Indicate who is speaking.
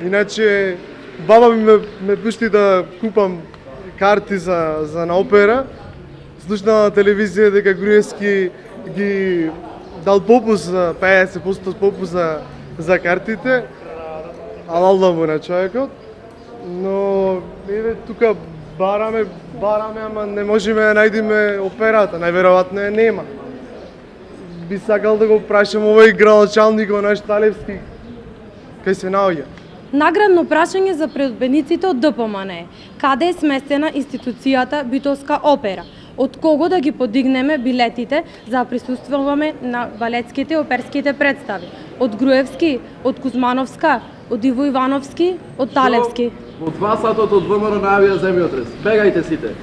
Speaker 1: Иначе баба ми ме пушти да купам карти за на опера. Слушнав на телевизија дека Груевски ги дал попус, 50% попус за картите. Алалла му на човекот. Но еве тука бараме, ама не можеме да најдеме операта, најверојатно ја нема. Би сакал да го прашам овој градоначалникот наш Талевски, кај се наоѓа.
Speaker 2: Наградно прашање за предбедниците од ДПМН е: каде е сместена институцијата Битолска опера? Од кого да ги подигнеме билетите за да присуствуваме на балетските и оперските представи? Од Груевски, од Кузмановска, од Иво Ивановски, од Талевски?
Speaker 3: Од 2 сатот од ВМРО најавија земјотрес. Бегајте сите!